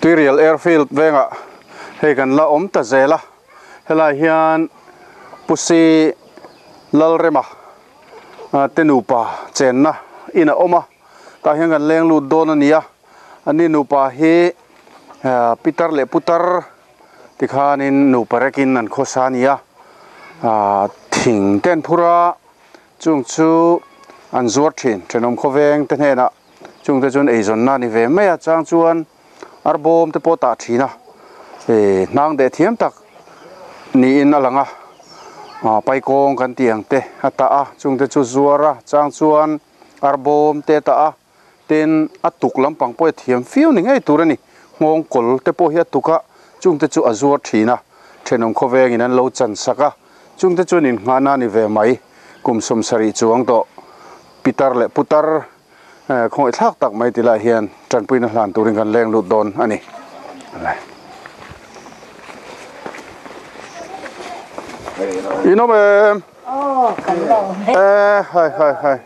Tuirial Airfield vengah hei kan la awm ta zel a, helai hian Pusi Lalrema te nupa chenna in a awm a, tah hian kan leng lut dawn a ni a, ani nupa hi pitar leh putar tikhanin nupa rekin an khawsa a ni a, thing te an phur a, chung chu an zuar thin thenawm khawveng te hnenah chungte chuan eizawnna a ni ve mai a, chang chuan arbawm te pawh tah thin a, eh hnang deh thiam tak niin a lang a, ah paikawng kan tih ang te a tah a, chungte chu zuar a, chang chuan arbawm te a tah a, tin a tuk lampang pawh hi a thiam fiau ni ngei tur a ni, nghawng kawl te pawh hi a tuk a, chungte chu a zuar thin a, thenawm khawvengin an lo chan sak a, chungte chuan inngahna a ni ve mai, kum 70 chuang tawh pitar leh putar khawngaih thlak tak mai ti lai hian tanpuina hlan turin kan leng lut dawn a ni. In awm em? Hai hai hai.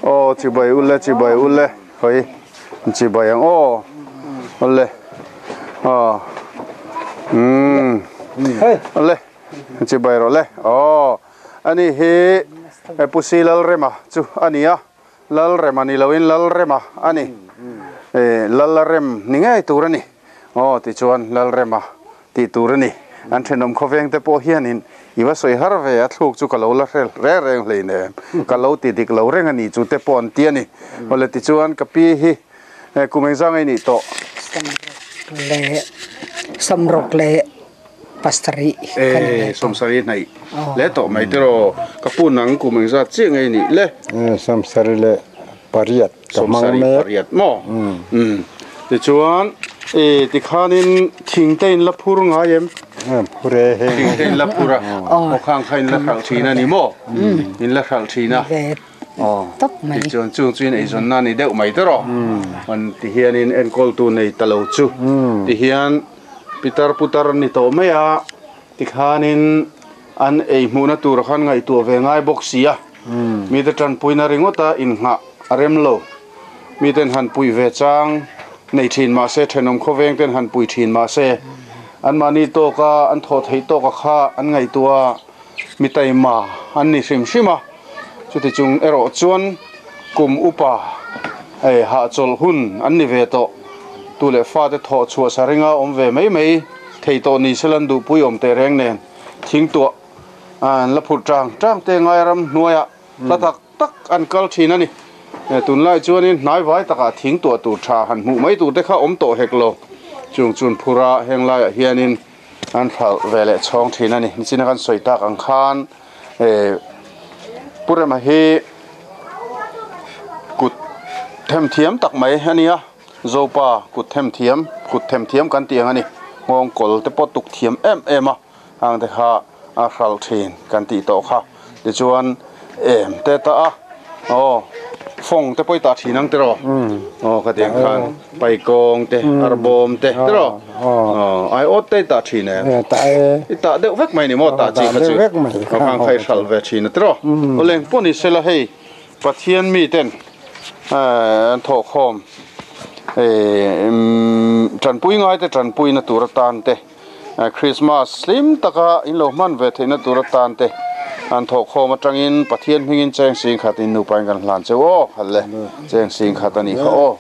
Aw chibai ule chibai ule hoi chibai ang aw ule aw um ule chibai rawh le aw. Ani hi Pusi Lalrema chu a ni a, Lalrema ni loin Lalrema a ni. Lalrem ni ngei tur a ni. Aw tichuan Lalrema tih tur a ni. An thenawm khawveng te pawh hianin i va sawi har ve a, thluk chu ka lo la hre reng reng hleinem, ka lo ti dik lo reng a ni chu te pawh an ti a ni. Awle tichuan ka pi hi kum engzang ei nih tawh? Samrawk leh Samrawk leh. Pasarih ka ni ve tawh. Sawmsarih hnaih le tawh mai tiraw ka pu nang kum engzat chiah ngei nih le. Sawmsarih leh pariat ka hmang mek. Sawmsarih pariat maw? Tichuan tikhanin thing te in la phur ngai em? Phur e heng. Thing te in la phur a, aw khang kha in la hralh thin a ni maw? In la hralh thin a. Tawp mai. Tichuan chung chu in eizawnna a ni deuh mai tiraw? Tihianin enkawltu nei ta lo chu tihian. Pitar putar ni tawh mai a, tikhanin an ei hmuhna tur khan ngaihtuah ve ngai bawk si a, mite tanpuina ringawta inngah a rem lo. Miten han puih ve chang nei thin mah se, thenawm khawveng ten han pui thin mah se, anmahni tawka an thawh theih tawka kha an ngaihtuah a, mi taima an ni hrim hrim a. Chuti chung erawh chuan kum upa hahchawlh hun an ni ve tawh. Tu leh fate thawh chhuah sa ringa awm ve mai mai thei tawh ni sela an duhpui awm teh reng nen thingtuah an la phurh tang tang te ngai ram hnuaiah hla tak tak an kal thin a ni. Tunlai chuanin hnaivai takah thingtuah tur tha han hmuh mai tur te kha awm tawh hek lo. Chung chun phura heng laiah hianin an hralh ve leh chhawng thin a ni. Nichina kan sawi tak ang khan Pu Rema hi kut them thiam tak mai a ni a, Zopa kut them thiam, kut them thiam kan tih ang a ni. Nghawng kawl te pawh tuk thiam em em a, hang te kha a hralh thin kan tih tawh kha. Tichuan em te ta a, aw fawng te pawh i tah thin ang tiraw? Aw ka tih ang khan paikawng te, arbawm te tiraw? Aw aiawt te i tah thin em? I tah deuh vek mai ni maw tah chi kha chu? Aw khang kha i hralh ve thin a tiraw? Aw leng pawh ni sela hei Pathian mi ten an thawhkhawm tanpui ngai te tanpuina tur atan te Christmas hlim taka in lo hman ve theihna tur atan te an thawhkhawm atangin Pathian hmingin cheng sing khat in nupa in kan hlan cheu aw khat le cheng sing khat a nih kha aw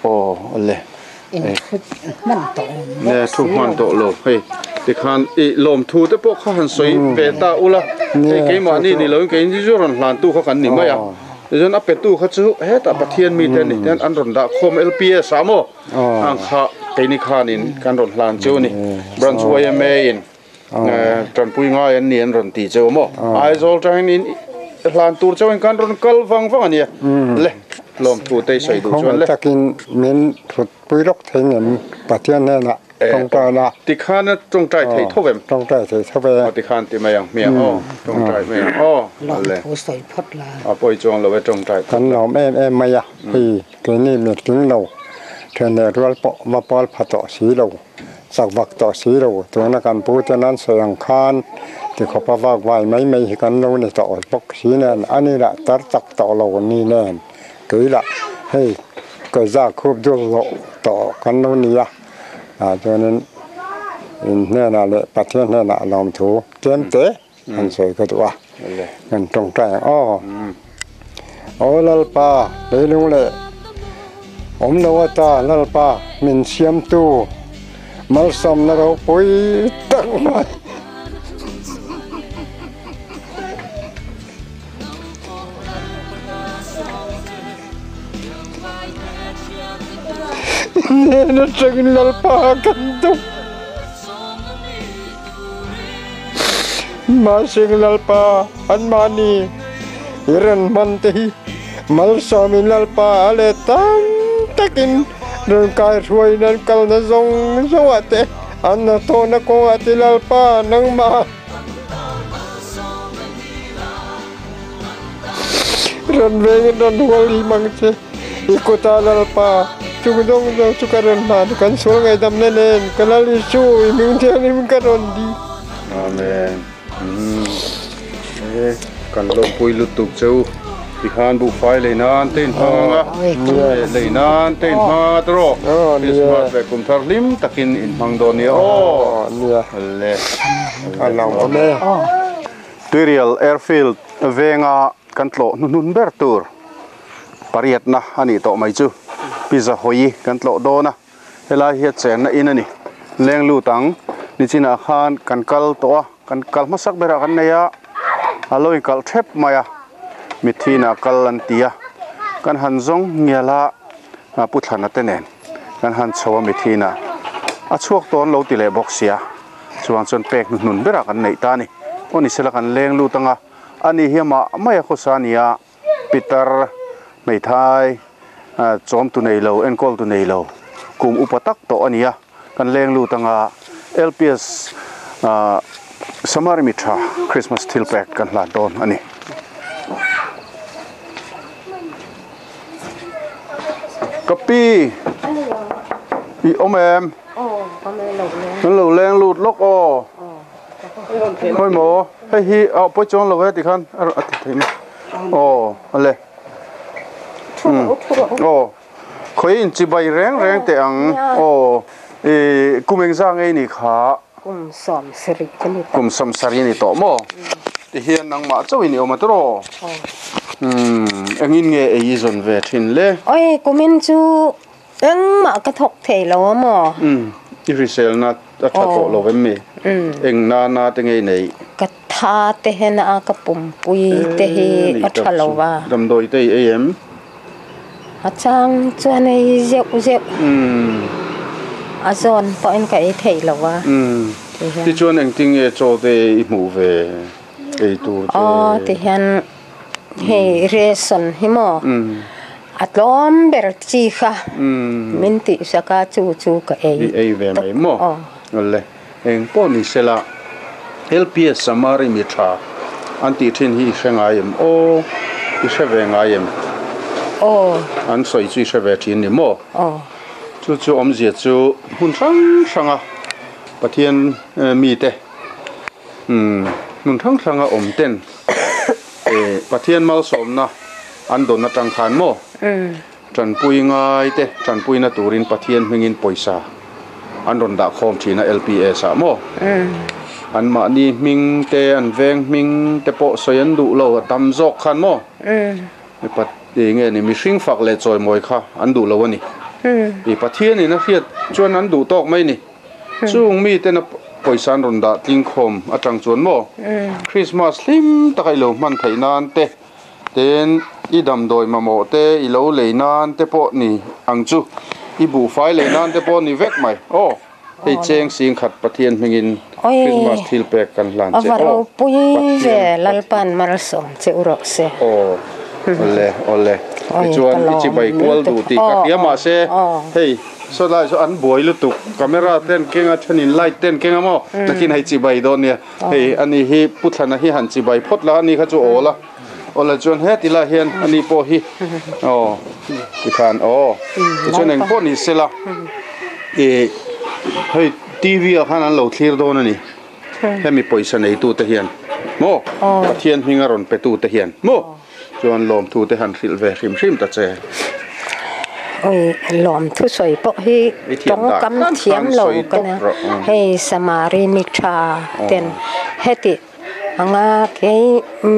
aw le ne thu hman tawh lo hei tikhan i lawmthu te pawh kha han sawi ve ta ula hei keimahni ni loin keini chu rawn hlan tu kha kan ni mai a tichuan a petu kha chu hetah Pathian mite a ni ten an rawn dah khawm LPS ah maw Ang kha keini khanin kan rawn hlan chu a ni. Branch YMA in tanpui ngai an ni an rawn ti cheu maw? Aizawl tangin in hlan tur chauhin kan rawn kal vang vang a nia. Le lawmthu te i sawi duh chuan le. Khawngaih takin min thut pui lawk thei ngem Pathian hnenah tawngtai la. Tikhan a tawngtai thei tho em? Tawngtai thei tho e. Aw tikhan ti mai ang hmiang aw. Tawngtai mai ang aw. Lawmthu sawi phawt la. A pawi chuang lo e tawngtai phawt la. Kan lawm em em mai a hei. Keini mitling lo, theneh rual pawh va pawl pha tawh si lo, chak vak tawh si lo, tuna kan pu ten an sawi ang khan tikhawpa vak vai mai mai hi kan lo ni tawh bawk si nen, ani lah tar chak tawh lo ni nen, kei lah hei Ke za khup dul loh tawh kan lo ni a, ah chuanin in hnenah leh Pathian hnenah lawmthu tlem te an sawi ka duh a, kan tawngtai ang aw. Aw Lalpa, leilung leh awm lo ata Lalpa min siamtu malsawmna ropui tak mai. Hnen atangin Lalpa kan duh. Mahseng Lalpa anmahni i rawn hman te hi malsawmin Lalpa a let tam takin rawn kaihruaiin an kalna zawng zawngah te an hnathawhna kawngah te Lalpa nangmah Rawn vengin rawn hual him ang che. I kutah Lalpa, chung zawng zawng chu ka rawn hlan, kan sual ngaihdamna nen ka Lal Isu i hming thianghlim ka rawn di. Amen. E, kan lawmpui lutuk che u. Tikhan buhfai lei nan te in hmang ang a, lei nan te in hmang ang a tawh. Christmas leh kum thar hlim takin in hmang dawn nia aw. Le. A lawm awm e. Tuirial Airfield venga kan tlawh hnuhnun ber tur pariatna a nih tawh mai chu Pizza hawi kan tlawh dawn a, helai hi a chenna in a ni. Leng lut ang nichinah khan kan kal tawh a, kan kal hmasak berah kan nei a, a lo inkalh thep mai a, mitthi inah kal an ti a, kan han zawng ngial a, Pu Thlana te nen kan han chho a mitthi inah a chhuak tawn lo ti leh bawk sia. Chuang chuan pek hnuhnun berah kan neih ta a ni. Aw ni sela kan leng lut anga ani hi amah mai a khawsa a ni a, pitar, hmeithai, chawm tu nei lo, enkawl tu nei lo, kum upa tak tawh a ni a, kan leng lut anga LPS Samari Mithra Christmas thil pek kan hlan dawn a ni. Ka pi, i awm em? Kan lo leng lut lawk aw. Khawi maw? Hei hi a pawi chuang lo e tikhan a ti thei mai. Aw ale. Aw khawi in chibai reng reng teh ang. Aw i kum engzah ngei ni kha? Kum 70 ka ni tawh. Kum 70 ni tawh maw? Tihian nangmah chauhin i awm a tawh. Umm engin nge ei i zawn ve thin le? Oi kumin chu Engmah ka thawk thei lo a maw? Umm, i hriselna a tha tawh lo em mi? Eng nana te ngei nei? Ka tha te hen a, ka pumpui te hi a tha lo va. Damdawi te i ei em? A chang chuan ei zeuh zeuh. Umm. A zawn pawhin ka ei thei lo va. Umm, tichuan engtin nge chaw te i hmuh ve ei tur te? Aw, tihian Hei ration hi maw a tlawm ber chi kha min tihsak a chu chu ka ei. I ei ve mai maw? Awle eng pawh ni sela LPS Samari mi tha an tih thin hi i hre ngai em aw i hre ve ngai em? Aw. An sawi chu i hre ve thin ni maw? Aw. Chu chu awmzia chu hmun hrang hranga Pathian mite Umm hmun hrang hranga awm ten eh Pathian malsawmna an dawn atang khan maw tanpui ngai te tanpuina turin Pathian hmingin pawisa an rawn dah khawm thin a LPS ah maw an mahni hming te an veng hming te pawh sawi an duh lo a tam zawk khan maw mipat eng nge ni mihring fak leh chawimawi kha an duh lo a ni i Pathian in a hriat chuan an duh tawk mai ni. Chung miten a pawisa an rawn dah tling khawm atang chuan maw Christmas hlim taka i lo hman theih nan te tin i damdawi mamawh te i lo lei nan te pawh ni ang chu i buhfai lei nan te pawh ni vek mai aw hei cheng sing khat Pathian hmingin Christmas thil pek kan hlan che aw Pathian Lalpan malsawm che u rawh se aw awle awle tichuan i chibai kual duh tih ka hria mahse hei Saw lai saw an buai lutuk camera te an keng a thenin light te an keng a maw nakin hei chibai dawn nia hei ani hi Pu Thlana hi han chibai phawt la ani kha chu awl a awl ah chuan heti lai hian ani pawh hi aw tikhan aw tichuan eng pawh ni sela ih hei T_V ah khan an lo thlir dawn a ni hemi pawisa neitu te hian maw Pathian hminga rawn pe tu te hian maw. Chuan lawmthu te han hrilh ve hrim hrim ta che. Oi lawm thu sawi pawh hi tawngkam thiam lo ka nia. Hei Samari mi tha ten heti anga kei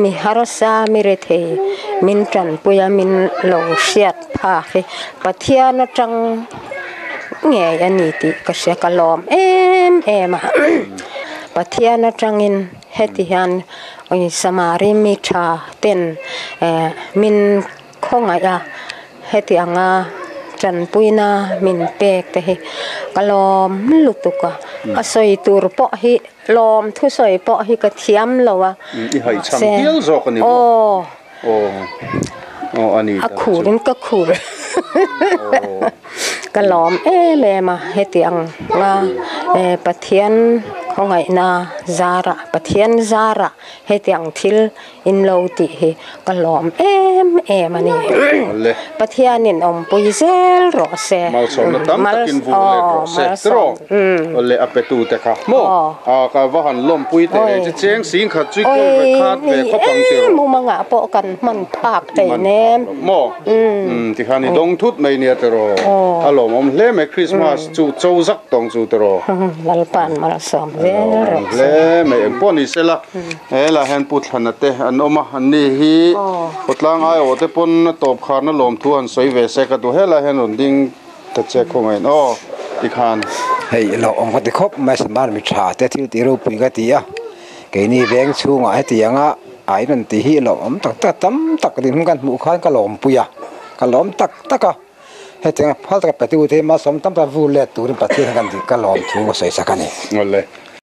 mi harsa mi rethei min tanpui a min lo hriat phak hi Pathian atang ngei a ni tih ka hria ka lawm em em a. Pathian atangin heti hian oi Samari mi tha ten min Khawngaih a, heti anga tanpuina min pek te hi ka lawm lutuk a, a sawi tur pawh hi lawm thusawi pawh hi ka thiam lo a, I haihchham hial zawk a ni maw? Aw, aw a ni a khurin ka khur ka lawm em em a, heti anga Pathian khawngaihna zarah Pathian zarah heti ang thil In lo tih hi ka lawm em em a ni. Pathianin awmpui zel rawh se. Malsawmna tam takin vur let rawh se. Tiraw? Awle a petu te kha maw? A ka va han lawmpui teh reng che cheng sing khat chu kawl ve khat ve khawp ang tiraw? Mumangah pawh kan hman phak thei nem. Maw? Tikhan i dawng thut mai nia tiraw? A lawmawm hle mai Christmas chu cho zak tawng chu tiraw? Lalpa'n malsawm zel rawh se. Hle mai engpawh ni sela. He lah hian Pu Thlana te an awm a, an ni hi khawtlang aiawh te pawn a tawp kharna lawmthu han sawi ve se ka duh. He lah hian rawn ding ta che khawngaih aw tikhan. Hei lo awm ka ti khawp mai Smart mi tha te thil tih ropui ka ti a, keini veng chhungah hetianga a in rawn tih hi lo awm tak tak tam tak din hun kan hmuh khan ka lawmpui a, ka lawm tak tak a, hetianga phal taka petu te hi malsawm tam tak vur let turin Pathian hian kan ka lawmthu ka sawi sak a ni. Awle.